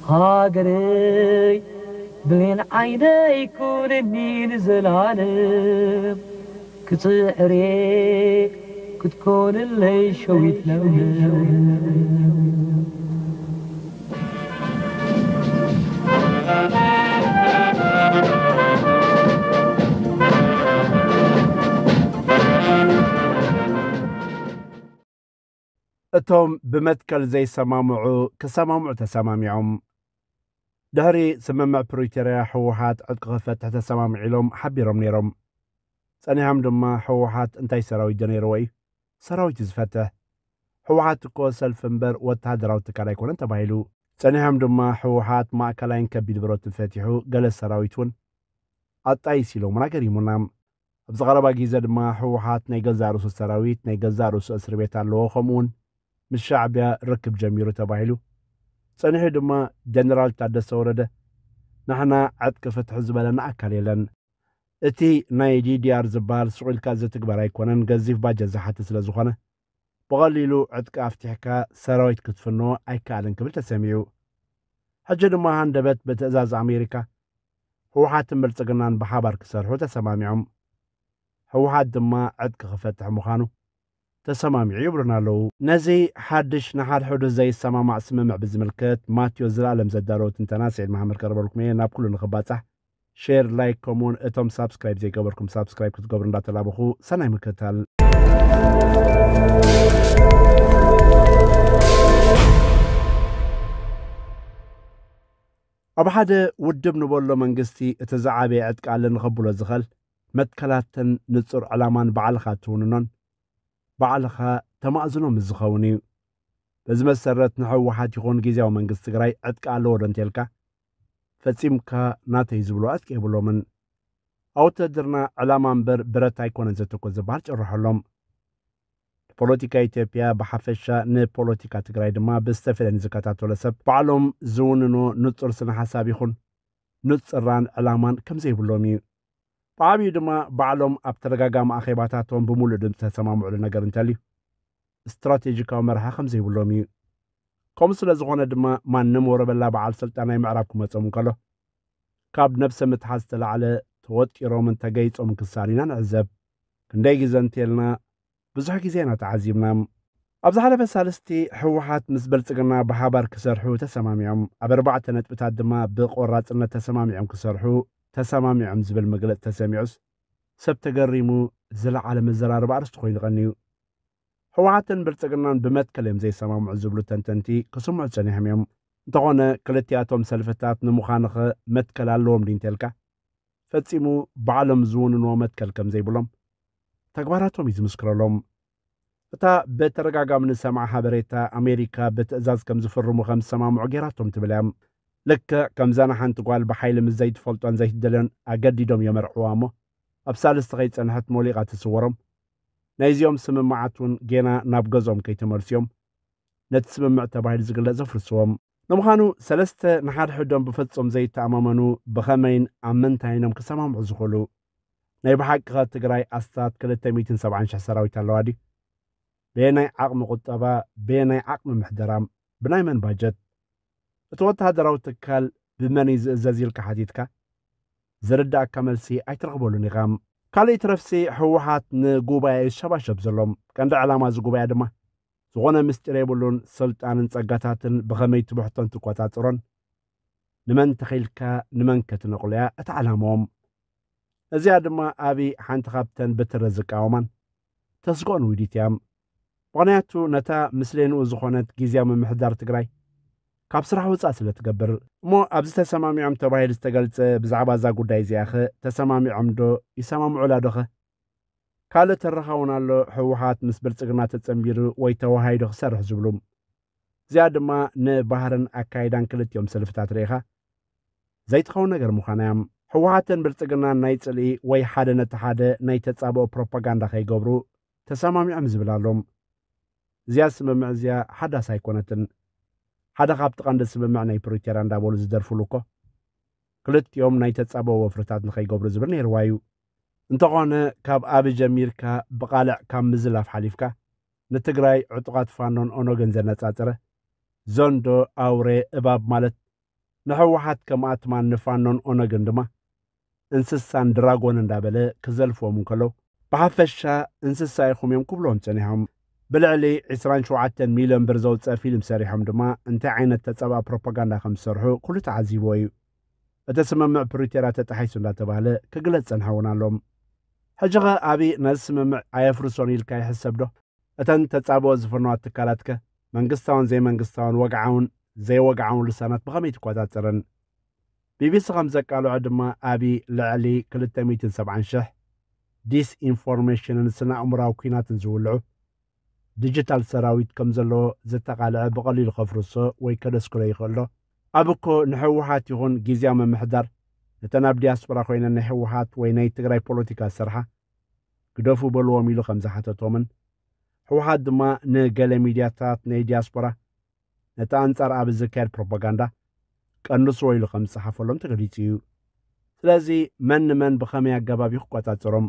ሃገረይ ብሌን ዓይነይ ኩንኒ ንዘላለም ክጽዕሬ ክትኮንለይ ሸዊት ለምለም። እቶም ብመትከል ዘይሰማምዑ ክሰማምዑ ተሰማሚዖም። ድሕሪ ስምምዕ ፕሪቶርያ ህወሓት ዕጥቂ ክፈትሕ ተሰማምዑ ኢሎም ሓቢሮም ነይሮም። ጸኒሖም ድማ ህወሓት እንታይ ሰራዊት ዶ ነይርዎ እዩ? ሰራዊት እዩ ዝፈትሕ። ህወሓት እኮ ሰልፊ እምበር ወተሃደራዊ ትካል ኣይኮነን ተባሂሉ። ጸኒሖም ድማ ህወሓት ማእከላይን ከቢድ ብረትን ፈቲሑ ገለ ሰራዊት እውን ኣጣይስ ኢሎምና ገሪሙና። ኣብዚ ቀረባ ግዜ ድማ ህወሓት ናይ ገዛእ ርእሱ ሰራዊት ናይ ገዛእ ርእሱ እስሪ ቤት ኣለዎ፣ ከምኡውን ምስ ሻዕቢያ ርክብ ጀሚሩ ተባሂሉ። ጸኒሑ ድማ ጀነራል ታደሰ ወረደ ንሕና ዕጥቂ ፍትሒ ዝበለና ኣካል የለን፣ እቲ ናይ ዲዲኣር ዝበሃል ስቕ ኢልካ ዝትግበር ኣይኮነን፣ ገዚፍ ባጀት ዝሓትት ስለ ዝኾነ ብቐሊሉ ዕጥቂ ኣፍቲሕካ ሰራዊት ክትፍንዎ ኣይከኣልን ክብል ተሰሚዑ። ሕጂ ድማ ሃንደበት ብትእዛዝ ኣሜሪካ ህወሓትን ብልጽግናን ብሓባር ክሰርሑ ተሰማሚዖም። ህወሓት ድማ ዕጥቂ ክፈትሕ ምዃኑ ተሰማሚዑ ይብሉና ኣለዉ። ነዚ ሓድሽ ንሓድሕዱ ዘይሰማማዕ ስምምዕ ብዝምልከት ማቴዎ ዝለኣለም ዘዳለዎ ትንተና ስዒድ መሓመድ ከረበልኩም እየ። ናብ ኩሉ ንኽባጻሕ ሼር፣ ላይክ ከምኡውን እቶም ሳብስክራይብ ዘይገበርኩም ሳብስክራይብ ክትገብሩ እንዳተላበኹ ሰናይ ምክትታል። ኣብ ሓደ ውድብ ንበሎ መንግስቲ እቲ ዝዓበየ ዕጥቂ ኣለኒ ከብሎ ዝኽእል መትከላትን ንጹር ዕላማን ባዕልኻ ትውንኖን ባዕልኻ ተማእዝኖ ምስ ዝኸውን እዩ። በዚ መሰረት ንህወሓት ይኹን ግዜያዊ መንግስቲ ትግራይ ዕጥቂ ኣለዎ ዶ እንተልካ ፈጺምካ ናተይ ዝብሎ ዕጥቂ የብሎምን። ኣብ ውትድርና ዕላማ እምበር ብረት ኣይኮነን ዘተኮር ዝበሃል ጭርሖሎም። ንፖለቲካ ኢትዮጵያ ብሓፈሻ ንፖለቲካ ትግራይ ድማ ብዝተፈለኒ ዝከታተሎ ሰብ ባዕሎም ዝውንኖ ንጹር ስነ ሓሳብ ይኹን ንጹራን ዕላማን ከም ዘይብሎም እዩ። ብዓብዩ ድማ ባዕሎም ኣብ ተደጋጋሚ ኣኼባታቶም ብምሉእ ድምፂ ተሰማምዕሉ ነገር እንተልዩ ስትራቴጂካዊ መርሓ ከም ዘይብሎም እዩ። ከምኡ ስለ ዝኾነ ድማ ማንም ወረበላ በዓል ስልጣን ናይ ምዕራብ ክመጾም እንከሎ ካብ ነብሰ ምትሓዝ ዝተላዕለ ተወጢሮምን ተገይጾምን ክሳሉ ኢና ንዕዘብ። ክንደይ ግዘ እንተልና ብዙሕ ግዜ ኢና ተዓዚብና። ኣብ ዝሓለፈ ሳልስቲ ህወሓት ምስ ብልጽግና ብሓባር ክሰርሑ ተሰማሚዖም፣ ኣብ ኣርባዕተ ነጥብታት ድማ ብቆራጽነት ተሰማሚዖም ክሰርሑ ተሰማሚዖም ዝብል መግለጺ ተሰሚዑስ ሰብ ተገሪሙ ዝለዓለ መዘራረቢ ኣርእስቲ ኮይኑ ቀንዩ። ህወሓትን ብልጽግናን ብመትከል እዮም ዘይሰማምዑ ዝብሉ ተንተንቲ ክስምዑ ጸኒሖም እዮም። እንተኾነ ክልቲኣቶም ሰልፍታት ንምዃንኸ መትከል ኣለዎም ድዩ እንተልካ ፈጺሙ ባዕሎም ዝውንንዎ መትከል ከም ዘይብሎም ተግባራቶም እዩ ዝምስክረሎም። እታ ብተደጋጋሚ ንሰምዓ ሓበሬታ ኣሜሪካ ብትእዛዝ ከም ዝፍርሙ ከም ዝሰማምዑ ገይራቶም ትብል እያ። ልክዕ ከምዛ ንሓንቲ ጓል ብሓይሊ ምስ ዘይትፈልጦን ዘይትደልዮን ኣገዲዶም የመርዕዋ እሞ ኣብ ሳልስቲ ከይጸንሐት ሞሊቓ ትስወሮም። ናይዚኦም ስምምዓት እውን ጌና ናብ ገዝኦም ከይተመልስዮም ነቲ ስምምዕ ተባሂሉ ዝግለጽ ዘፍርስዎም። ንምዃኑ ሰለስተ ንሓድሕዶም ብፍጹም ዘይተኣማመኑ ብኸመይን ኣብ ምንታይን እዮም ክሰማምዑ ዝኽእሉ? ናይ ብሓቂ ኸ ትግራይ ኣስታት ክልተ ሚእትን ሰብዓን ሽሕ ሰራዊት ኣለዋ ድዩ? በየናይ ዓቕሚ ቁጠባ፣ በየናይ ዓቕሚ ምሕደራ፣ ብናይ መን ባጀት? እቲ ወተሃደራዊ ትካል ብመን እዩ ዝእዘዝ ኢልካ ሓቲትካ ዝርዳእካ መልሲ ኣይትረኽበሉን ኢኻ። ካልእ ይትረፍሲ ህወሓት ንጉባኤ እዩ ዝሸባሸብ ዘሎ። ቀንዲ ዕላማ እዚ ጉባኤ ድማ ዝኾነ ምስጢር የብሉን። ስልጣንን ጸጋታትን ብኸመይ ትብሕቶን ትቆጻጽሮን ንመን ተኺልካ ንመን ከተነቕሎ እያ እታ ዕላምኦም። እዚኣ ድማ ኣብይ ሓንቲ ካብተን ብትሪ ዝቃወማን ተስግኦን ውዲት እያ። ምኽንያቱ ነታ ምስሌንኡ ዝኾነት ግዝያዊ ምምሕዳር ትግራይ ካብ ስራሕ ውፃእ ስለ ትገብር። እሞ ኣብዚ ተሰማሚዖም ተባሂሉ ዝተገልፀ ብዛዕባ እዛ ጉዳይ እዚኣ ኸ ተሰማሚዖም ዶ ይሰማምዑላ ዶ ኸ? ካልእ ተረኻ እውን ኣሎ፣ ህወሓት ምስ ብልፅግና ተፀንቢሩ ወይ ተወሃሂዱ ክሰርሕ ዝብሉ። እዚኣ ድማ ንባህርን ኣካይዳን ክልቲኦም ሰልፍታት ርኢኻ ዘይትኸውን ነገር ምዃና እያ። ህወሓትን ብልፅግናን ናይ ፅልኢ ወይ ሓደ ነቲ ሓደ ናይ ተፃብኦ ፕሮፓጋንዳ ከይገብሩ ተሰማሚዖም ዝብል ኣሎ። እዚኣ ስምምዕ እዚኣ ሓዳስ ኣይኮነትን። ሓደ ካብቲ ቀንዲ ስምምዕ ናይ ፕሪቶርያ እንዳበሉ ዝደርፍሉ እኮ ክልቲኦም ናይ ተፃብኦ ወፍርታት ንኸይገብሩ ዝብል ነይርዋ እዩ። እንተኾነ ካብ ኣቢ ጀሚርካ ብቓልዕ ካብ ምዝላፍ ሓሊፍካ ንትግራይ ዕጡቓት ፋኖን ኦነግን ዘነፃፀረ ዘንዶ፣ ኣውሬ፣ እባብ ማለት ንህወሓት ከም ኣትማን ንፋኖን ኦነግን ድማ እንስሳን ድራጎን እንዳበለ ክዘልፍዎም እንከሎ፣ ብሓፈሻ እንስሳ ኢኹም እዮም ክብልዎም ጸኒሖም። ብልዕሊ ዕስራን ሸውዓተን ሚልዮን ብር ዘውፅአ ፊልም ሰሪሖም ድማ እንታይ ዓይነት ተጻብኣ ፕሮፓጋንዳ ከም ዝሰርሑ ኩሉ ተዓዚብዎ እዩ። እቲ ስምምዕ ፕሪቶርያ ተጣሒሱ እንዳተባህለ ክግለጽ ጸንሐ እውን ኣሎም። ሕጂ ኸ ኣብይ ነዚ ስምምዕ ኣየፍርሶን ኢልካ ይሕሰብ ዶ? እተን ተጻብኦ ዝፈነዋ ትካላትከ መንግስታውን ዘይመንግስታውን ወግዓውን ዘይወግዓውን ልሳናት ብኸመይ ትቆጻጸረን? ቢቢሲ ከም ዘቃልዖ ድማ ኣብይ ልዕሊ ክልተ ሚእትን ሰብዓን ሽሕ ዲስኢንፎርሜሽንን ስነ ኣእምራዊ ኲናትን ዝውልዑ ዲጂታል ሰራዊት ከም ዘለዎ ዘተቓልዐ ብቐሊሉ ከፍርሶ ወይ ከደስክሎ ይኽእል ዶ? ኣብ እኮ ንህወሓት ይኹን ግዝያዊ ምምሕዳር ነተን ኣብ ዲያስፖራ ኮይነን ናይ ህወሓት ወይ ናይ ትግራይ ፖለቲካ ዝሰርሓ ግደፉ በልዎም ኢሉ ከም ዝሓተቶምን ህወሓት ድማ ንገለ ሚድያታት ናይ ዲያስፖራ ነቲ ኣንጻር ኣብ ዝካየድ ፕሮፓጋንዳ ቀንስዎ ኢሉ ከም ዝጸሓፈሎም ተገሊጹ እዩ። ስለዚ መን ንመን ብኸመይ ኣገባብ እዩ ክቆጻጸሮም?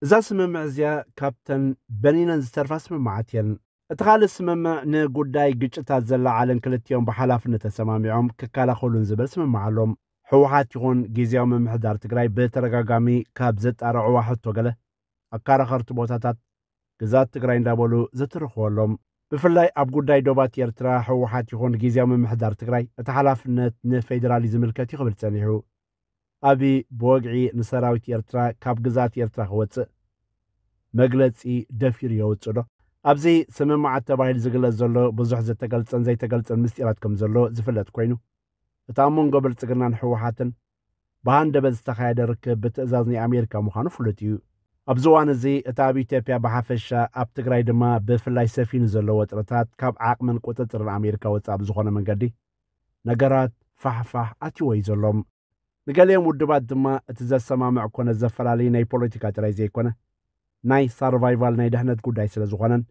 እዛ ስምምዕ እዚኣ ካብተን በኒነን ዝተርፋ ስምምዓት እየን። እቲ ካልእ ስምምዕ ንጉዳይ ግጭታት ዘለዓዕልን ክልቲኦም ብሓላፍነት ተሰማሚዖም ክከላኸሉን ዝብል ስምምዕ ኣሎም። ህወሓት ይኹን ግዝያዊ ምምሕዳር ትግራይ ብተደጋጋሚ ካብ ዘጣርዕዋ ሕቶ ገለ ኣከራኸርቲ ቦታታት ግዛት ትግራይ እንዳበሉ ዝትርኽዎ ኣሎም። ብፍላይ ኣብ ጉዳይ ዶባት ኤርትራ ህወሓት ይኹን ግዝያዊ ምምሕዳር ትግራይ እቲ ሓላፍነት ንፌዴራል እዩ ዝምልከት እዩ ክብል ጸኒሑ። ኣብይ ብወግዒ ንሰራዊት ኤርትራ ካብ ግዛት ኤርትራ ክወጽእ መግለጺ ደፊሩ የውጽእ ዶ? ኣብዚ ስምምዓት ተባሂሉ ዝግለጽ ዘሎ ብዙሕ ዝተገልጸን ዘይተገልጸን ምስጢራት ከም ዘሎ ዝፍለጥ ኮይኑ፣ እቲ ኣብ መንጎ ብልጽግናን ህወሓትን ብሃንደበት ዝተኻየደ ርክብ ብትእዛዝ ናይ ኣሜሪካ ምዃኑ ፍሉጥ እዩ። ኣብዚ እዋን እዚ እቲ ኣብ ኢትዮጵያ ብሓፈሻ ኣብ ትግራይ ድማ ብፍላይ ሰፊኑ ዘሎ ወጥረታት ካብ ዓቕምን ቁጽጽርን ኣሜሪካ ወጻኢ ብዝኾነ መንገዲ ነገራት ፋሕፋሕ ኣትይዎ እዩ ዘሎ። ንገሊኦም ውድባት ድማ እቲ ዘሰማምዕ ኮነ ዘፈላለዩ ናይ ፖለቲካ ጥራይ ዘይኮነ ናይ ሳርቫይቫል ናይ ድሕነት ጉዳይ ስለ ዝኾነን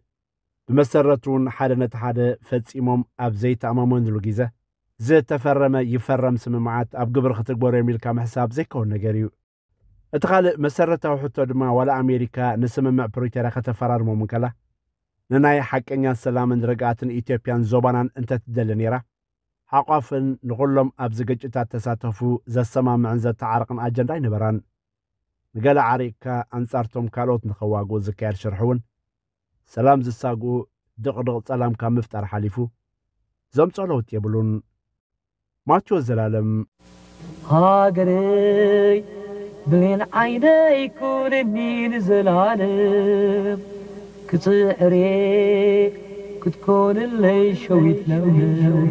ብመሰረቱ እውን ሓደ ነቲ ሓደ ፈጺሞም ኣብ ዘይተኣማመንሉ ግዜ ዝተፈረመ ይፈረም ስምምዓት ኣብ ግብሪ ክትግበሩ እዮም ኢልካ ምሕሳብ ዘይከውን ነገር እዩ። እቲ ካልእ መሰረታዊ ሕቶ ድማ ዋላ ኣሜሪካ ንስምምዕ ፕሪቶርያ ከተፈራርሞም እንከላ ንናይ ሓቀኛ ሰላምን ርግኣትን ኢትዮጵያን ዞባናን እንተትደሊ ነይራ ሓቋፍን ንኹሎም ኣብዚ ግጭታት ተሳተፉ ዘሰማምዕን ዘተዓርቕን ኣጀንዳ ኣይነበራን። ንገለ ዓሪቕካ ኣንጻርቶም ካልኦት ንኸዋግኡ ዝካየድ ሽርሒ እውን ሰላም ዝሳግኡ ድቕድቕ ጸላም ካብ ምፍጣር ሓሊፉ ዘምጾ ለውጢ የብሉን። ማቴዎስ ዘላለም። ሃገረይ ብሌን ዓይነይ ኩንኒ ንዘላለም ክጽዕሬ ክትኮንለይ ሸዊት ለምለም።